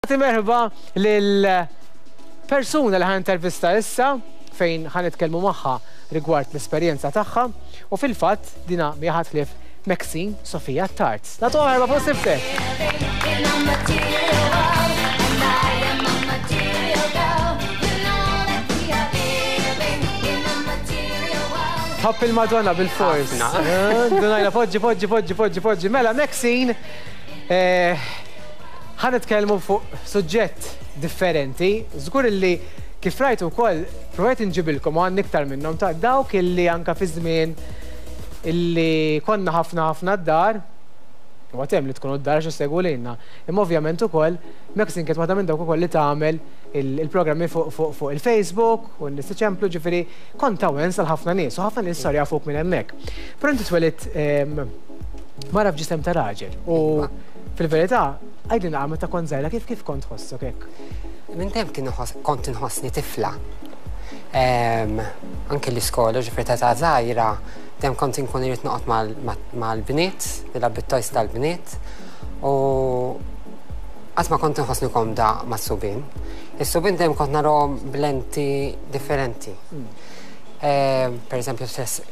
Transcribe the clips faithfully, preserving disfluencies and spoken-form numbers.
Merħba lil persuna li ħa nintervista issa, fejn ħa nitkellmu magħha rigward l-esperjenza tagħha, u fil-fatt dina mhi ħadd ħlief Maxine Sofia Tart. Nagħtu merħba fuq Siftek. In a material world, and I am a material girl. You know that we are living in a material world. Tħobb il-Madonna bil-fors. Ħafna. Dunajna, poġġi, poġġi, poġġi, poġġi, poġġi. Mela, Maxine, eh, ħa nitkellmu fuq suġġett differenti. Żgur illi kif rajtu wkoll provajt inġibilkom u għandna iktar minnhom ta' dawk illi anka fi żmien illi konna ħafna ħafna d-dar, u għatem li tkunu d-dar xi lilna. Imma ovvjament ukoll Maxine kienet waħda minn dawk ukoll li tagħmel il-programmi fuq fuq fuq il-Facebook u n-nies iċemplu, ġifieri kont ta' wens għal ħafna nies u ħafna nies saru jafuk minn hemmhekk. Però inti twelidt ehm, mara f'ġisem ta' raġel u fil-verità għidilna meta kont żgħira kif kif kont tħossok hekk? Minn dejjem kien inħoss- kont inħossni tifla. Em, Anke l-iskola, ġifieri ta' ta' żgħira, dejjem kont inkun irid noqgħod mal- ma- mal-bniet, nilgħab bit-toys tal-bniet, u qatt ma kont inħossni komda mas-subien. Is-subien dejjem kont narahom b'lenti differenti. Em, Per eżempju, tress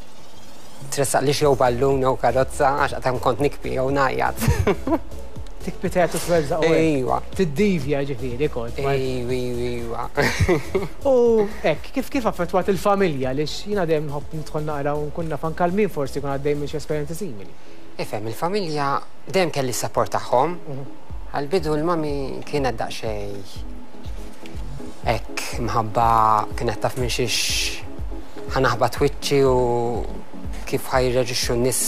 tressaq li jew ballun jew karozza, għax qatt kont nikbi jew ngħajjat. Tikbi teatu twerżaq u hekk. Ejwa. Tiddivja ġifieri kont. ma- Ejwa, ejwa. U hekk, kif kif affettwat il-familja li jiena dejjem nħobb nidħol naqra u nkun naf anke min forsi jkun għaddej minn xi esperjenzi simili. Ifhem, il-familja dejjem kelli s-support tagħhom. Għal-bidu l-mami kienet daqsxejn hekk mħabba kienet taf minn xiex ħa naħbat wiċċi u kif ħa jirreaġixxu n-nies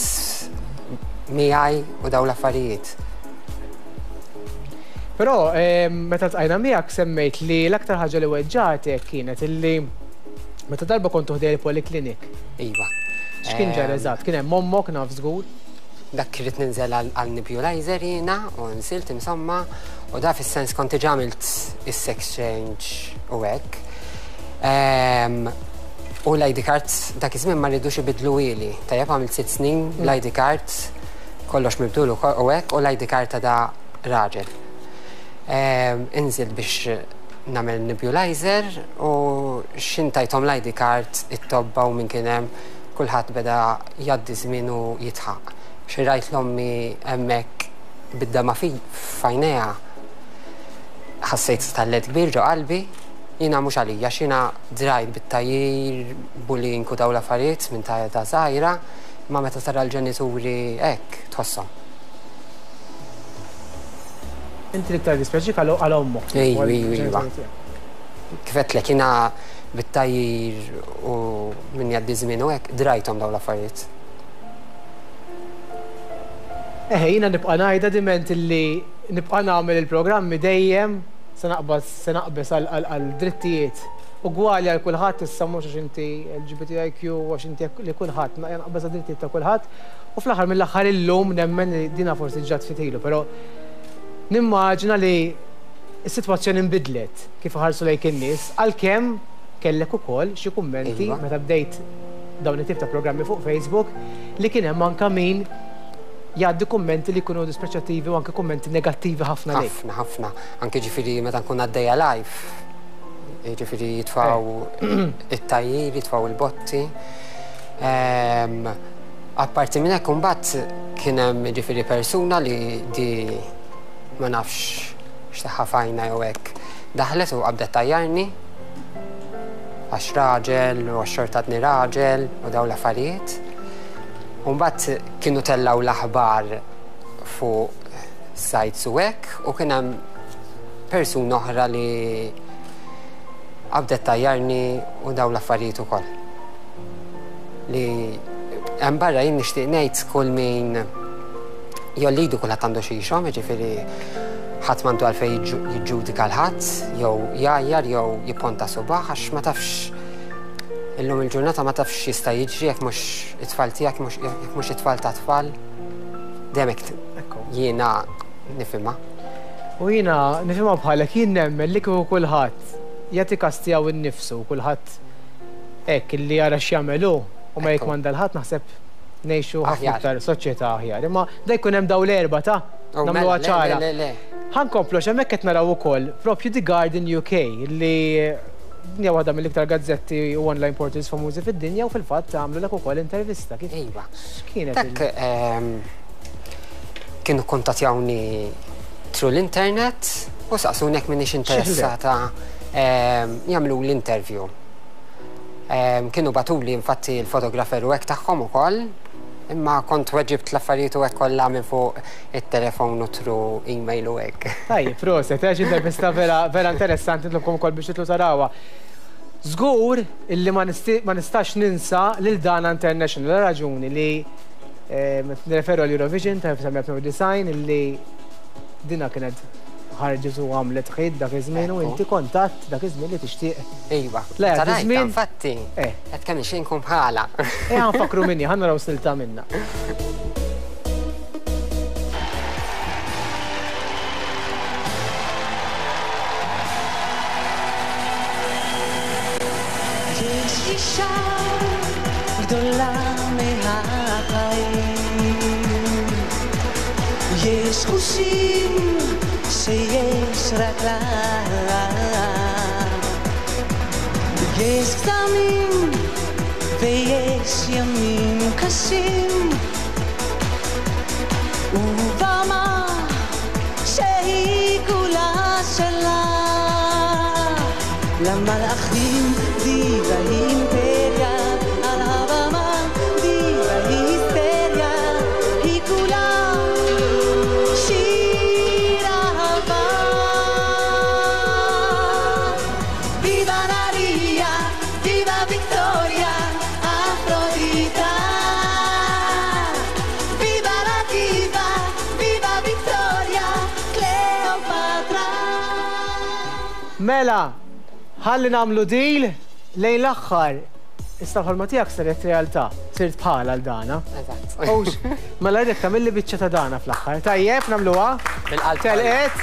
miegħi u daw l-affarijiet. Però eh, meta ltqajna miegħek semmejt li l-aktar ħaġa li weġġatek kienet illi meta darba kontu ħdejn il-poliklinik. Iva. X'kien ġara eżatt? Kien hemm ommok, naf żgur. Dak irrid ninżel għal għal nebulizer jiena u nżilt insomma, u da fis-sens kont diġà għamilt is-sex change u hekk. Ehm, U l-I D card dak iż-żmien ma rridux ibidluhieli. Tajjeb, għamilt sitt snin l-I D card kollox mibdul u ko- u hekk, u l-I D card ta' da raġel. Ehm, Inżilt biex nagħmel nebulizer u x'ħin tajthom l-I D card it-tobba u minn kien hemm, kulħadd beda jgħaddi żmien u jidħaq. Xi rajt l-ommi hemmhekk bid-dama fi f'għajnejha, ħassejt stallet kbir ġo qalbi. Jiena mhux għalija, x'jiena drajt bit-tgħajjir, bullying u daw l-affarijiet minn ta' ta' żgħira, ma meta tara l-ġenituri hekk tħosshom. Inti l-iktar dispjaċik għal għal ommok. Ejwa, ejwa, ejwa. Kif għedtlek, jiena bit-tgħajjir u minn jgħaddi żmien u hekk drajthom daw l-affarijiet. Eħe, jiena nibqa' ngħidha diment illi nibqa' nagħmel il-programmi, dejjem se naqbad se naqbes għal- għal għal drittijiet ugwali għal kulħadd. Issa mhux għax inti L G B T I Q, għax inti hekk, li kulħadd naqbeż għal drittijiet ta' kulħadd. U fl-aħħar mill-aħħar illum nemmen li dina forsi ġat ftit ilu, però nimmaġina li s-sitwazzjoni nbidlet kif ħarsu lejk in-nies, għalkemm kellek ukoll xi kummenti Iva. meta bdejt dawn it-tip ta' programmi fuq Facebook li kien hemm anka min jgħaddi kummenti li jkunu dispreċattivi u anke kummenti negattivi ħafna lejk. Ħafna, ħafna. Anke ġifieri meta nkun għaddejja live, ġifieri jitfaw it-tgħajjir, jitfaw il-botti. Ehm, Apparti minn hekk, imbagħad kien hemm ġifieri persuna li di ma nafx x'taħħa fajna jew hekk. Daħlet u qabdet tgħajjarni għax raġel u għax xorta għadni raġel u daw l-affarijiet. U mbagħad kienu tellaw l-aħbar fuq sites u hekk u kien hemm persuna oħra li qabdet tgħajjarni u daw l-affarijiet ukoll. Li hemm barra jien nixtieq ngħid kull min jollidu, kulħadd għandu xi jxomm, jiġifieri ħadd m'għandu għalfejn jiġġu- jiġġudika l-ħadd jew jgħajjar jew jipponta subgħu, għax ma tafx illum il-ġurnata, ma tafx jista' jiġri, jekk mhux it-tfal tiegħek, mhux- jekk mhux it-tfal ta' tfal. Dejjem hekk Ekku. jiena nifhimha. U jiena nifhimha bħalek, jien nemmen li kieku kulħadd jagħti kas tiegħu innifsu, kulħadd hekk li jara x'jagħmel hu u ma Ekku. jikmanda l-ħadd, naħseb ngħixu ħafna Aħjar. iktar soċjetà aħjar. Imma da jkun hemm daw l-erba ta' Nagħmluha ċara. Ħa nkomplu hemmhekk qed naraw ukoll propju The Guardian U K li hija waħda mill-iktar gazzetti u online portals famużi fid-dinja u fil-fatt għamlu lek ukoll intervista. Kif Iva. X'kienet Dak, ehm, kienu kontattjawni through l-internet u saqsuni jekk m'iniex interessata, ehm, jagħmlu l-interview. Ehm, kienu bagħtuli infatti l-fotografer u hekk tagħhom ukoll, imma kont weġibt l-affarijiet u hekk kollha minn fuq it-telefon u through email u hekk. Tajjeb, proset, għax intervista vera, vera interessanti, nitlobkom ukoll biex titlu tarawha. Żgur illi ma nisti-, ma nistax ninsa lil Dana International, la raġuni li, eh, nirreferu għal Eurovision ta' elf design design illi dina kienet ħarġet u għamlet ħid dak iż-żmien u Ekku. inti kontatt dak iż-żmien li tixtieq. Iva. Le, Tarajta, iż-żmien infatti, Eh. qed kemm ixejn nkun bħala. Eh, ħa nfakru minni, ħa naraw silta minna. יש אישה גדולה מהחיים, יש חושים שיש רק לה, יש קסמים ויש ימים קשים, ובמה שהיא כולה שלה. למלאכים דיבה אימפריה, על הבמה דיבה היסטריה, היא כולה שיר אהבה. ויבה נריה, ויבה ויקטוריה, אפרודיטה. ויבה לדיבה, ויבה ויקטוריה, קליאופטרה. Mela, ħalli nagħmlu deal lejn l-aħħar. Issa l-ħolma tiegħek saret realtà, sirt bħala għal Dana. Eżatt. Owx, mela rridek tagħmilli biċċa ta' Dana fl-aħħar. Tajjeb, nagħmluha? Bil-qalb. Telqet?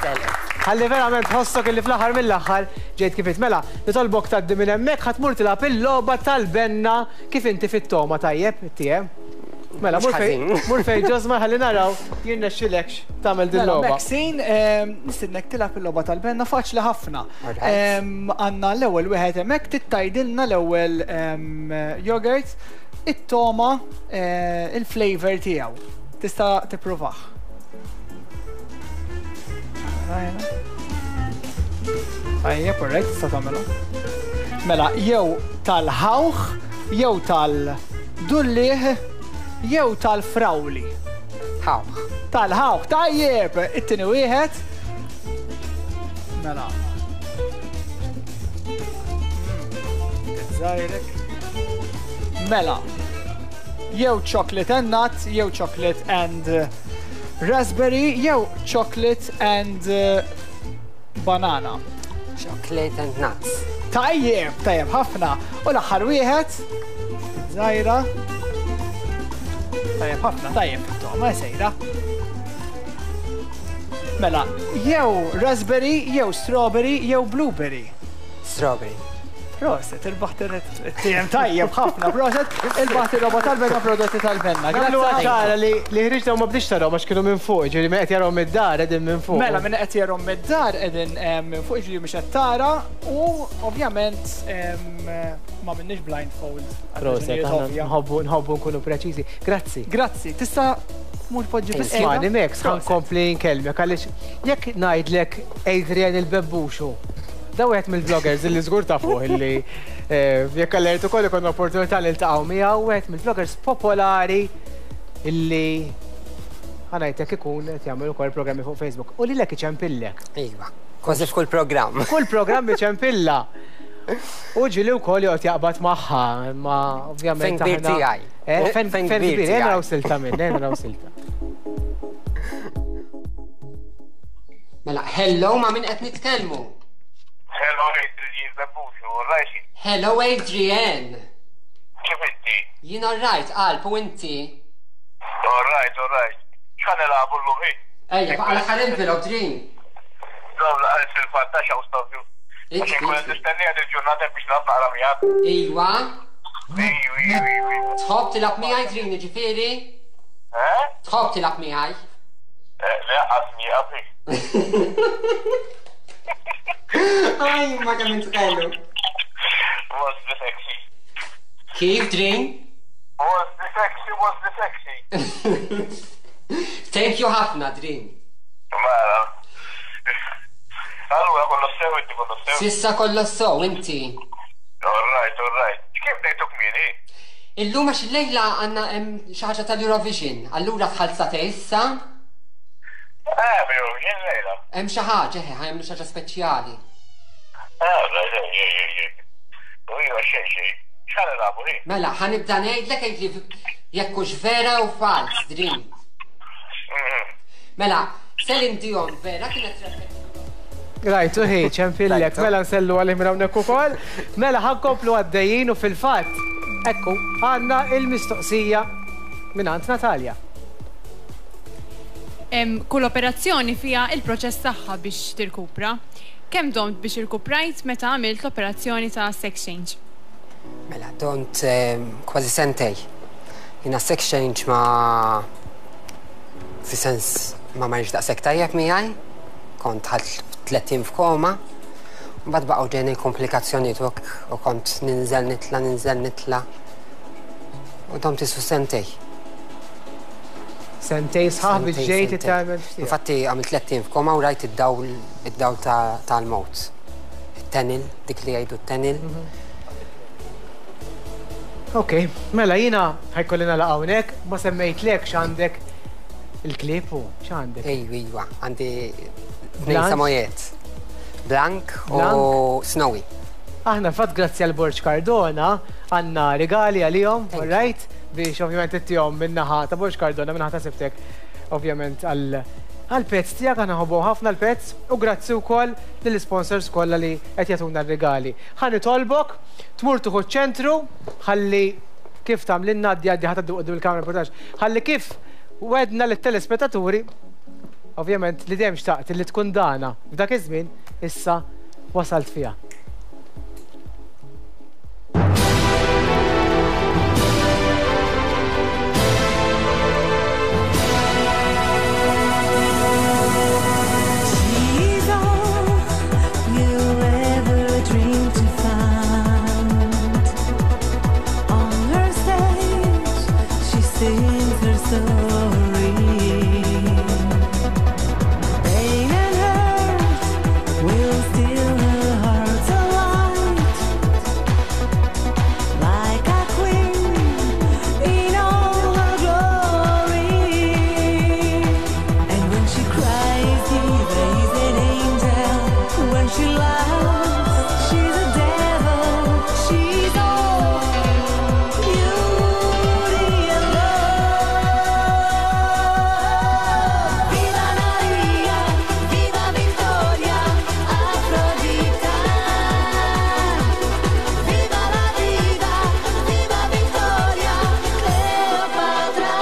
Telqet. Ħalli verament tħossok illi fl-aħħar mill-aħħar ġejt kif int. Mela, nitolbok tgħaddi minn hemmhekk ħa tmur tilgħab il-logħba tal-benna kif inti fit-toma, tajjeb, it-tiem. Mela, Mhux mur fej, ħażin. mur fej Ġosma ħalli naraw jirnexxilekx tagħmel din Mela, l-logħba. Maxine, ehm, nistednek tilgħab il-logħba tal-benna faċli ħafna. Alright. Ehm, għandna l-ewwel wieħed hemmhekk tittajdilna l-ewwel, ehm, yogurt, it-toma, eh, il-flavor tiegħu. Tista' tippruvah. Tajjeb, alright, tista' tagħmilha. Mela, jew tal-ħawħ, jew tal-dullieh, jew tal-frawli. Ħawħ. Tal-ħawħ, tajjeb, it-tieni wieħed. Mela. Żgħirek. Mela. Jew chocolate and nut, jew chocolate and raspberry, jew chocolate and, uh, banana. Chocolate and nuts. Tajjeb, tajjeb ħafna. U l-aħħar wieħed. Żgħira. Tajjeb ħafna, tajjeb, toma sejra. Mela, jew raspberry, jew strawberry, jew blueberry. Strawberry. Proset, irbaħt il-T M tajjeb ħafna, proset, irbaħt il-roba tal-benna, prodotti tal-benna. Għamlu Grazzi. ċara li, li ħriġna u ma bdiex tarahom għax kienu minn fuq, ġifieri minn qed jarahom mid-dar qegħdin minn fuq. Mela, minn qed jarahom mid-dar qegħdin, eh, minn fuq, ġifieri mhux qed tara u ovvjament, em, ma minnix blindfold. Proset, Raġunijiet aħna ovvja. nħobbu, nħobbu nkunu preċiżi. Grazzi. Grazzi, tista' tmur poġġi Thank fis-sena? Ismani, Max, ħa Proset. nkompli nkellmek għaliex jekk ngħidlek Adrian il-Bebbuxu, da wieħed mill-vloggers illi żgur ta' fuq illi, eh, jekk allertu ukoll ikun opportunità li ltaqgħu miegħu, wieħed mill-vloggers popolari illi ħa ngħidlek ikun qed jagħmel ukoll programmi fuq Facebook. U lilek iċempillek. Iva, kważi f'kull programm. Kull programm iċempilla. U ġieli wkoll joqgħod jaqbad magħha, imma ovvjament Fejn kbir aħna tiegħi. Eh, fejn Fejn fejn kbir kbir, eh, tiegħi. naraw silta minn, eh, naraw silta. Mela, hello ma' min qed nitkellmu? Hello Adrian Bebbuxu, all right? Hello Adrian. Kif inti? Jien all right, qalb, u inti? All right, all right. X'ħa nilagħbu llum hi? Ejja, baqa' l-aħħar envelope, Dream. Dawn laqgħet fil-fantaxa u stofju. Inti, Għax inkun inti. nistennija dil-ġurnata biex nilgħab naqra miegħek. Iwa. Iju, iju, iju. Tħobb tilgħab miegħi, Dream, jiġifieri? Eh? Tħobb tilgħab miegħi? Le, għasmi għabri. Aj, ma kemm intqelu. Was the sexy. Kif, Dream? Was the sexy, was the sexy. Thank you ħafna, Dream. Mela. Allura, kollox sew, inti kollox sew. S'issa kollox sew, inti. All right, all right. Kif bdejtu kmieni? Illum għax illejla għandna hemm xi ħaġa tal-Eurovision. Allura tħallsa ta' issa, Eh, Eurovision lejla. hemm xi ħaġa, eħe, ħa jagħmlu xi ħaġa speċjali. Eh, right, ej, ej, ej, ej. U iva, xejn, xejn. X'ħa nilagħbu, hi? Mela, ħa nibda ngħidlek għidli jekk hux vera u fals, Dream. Mhm. Mela, Celine Dion vera kienet rebħet. Rajtu hi, ċempillek, Rajtu. mela nsellu għalim hawnhekk ukoll. Mela ħa nkomplu għaddejjin u fil-fatt, ekku, għandna il-mistoqsija minn Natalja. Em, Kull operazzjoni fija il-proċess tagħha biex tirkupra. Kemm domt biex irkuprajt meta għamilt l-operazzjoni ta' sex change? Mela, domt eh, kważi sentejn. Jiena sex change ma fi sens ma marriċ daqshekk tajjeb miegħi, kont ħadt tlett ijiem f'koma, mbagħad baqgħu ġejni komplikazzjonijiet u u kont ninżel nitla, ninżel nitla. U domt isu sentejn. Sentejn sħaħ biex Sentejn, ġejt sentejn. it-tagħmel ftit. Infatti għamilt tlett ijiem f'koma u rajt id-dawl id-dawl ta- tal-mewt. Il-tunnel, dik li jgħidu t-tunnel. Ok, mela jiena ħa jkolli nagħlaq hawnhekk, ma semmejtlek x'għandek il-klieb u x'għandek. Ejwa, ejwa, għandi tnejn Blanc? Samoyed. Blank u Blanc. Snowy. Aħna fatt grazzi għal Borġ Cardona għandna regali għalihom, Thank you. all right? Biex ovvjament ittihom min-naħa ta' Borġ Cardona, min-naħa ta' Sibtek, ovvjament għal għal pets tiegħek aħna nħobbu ħafna l-pets u grazzi wkoll lill-sponsors kollha li qed jagħtuna r-regali. Ħa nitolbok tmur tieħu ċentru ħalli kif tagħmlilna għaddi għaddi ħa tgħaddi quddiem il-kamera reportaġġ, ħalli kif wedna lit-telespettaturi ovvjament li dejjem xtaqt li tkun dana f'dak iż-żmien issa wasalt fiha. She's all you ever dreamed to find. On her stage, she sings her story. Pain and hurt will steal her heart's alight. Like a queen in all her glory. And when she cries, Diva is an angel. When she laughs, she's a devil. She's all beauty and love. Viva Maria, viva Victoria, Afrodita. Viva la diva, viva Victoria, Cleopatra.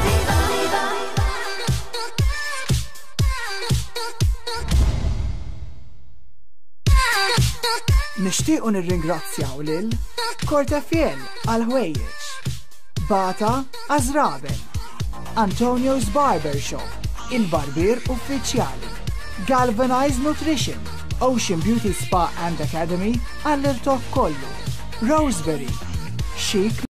Viva, viva. Nixtiequ nirringrazzjaw lil Cortefiel għal ħwejjeġ, Bata għaż-żraben, Antonio's Barber Shop, il-barbier uffiċjali, Galvanized Nutrition, Ocean Beauty Spa and Academy għall-irtokk kollu, Roseberry, Chic.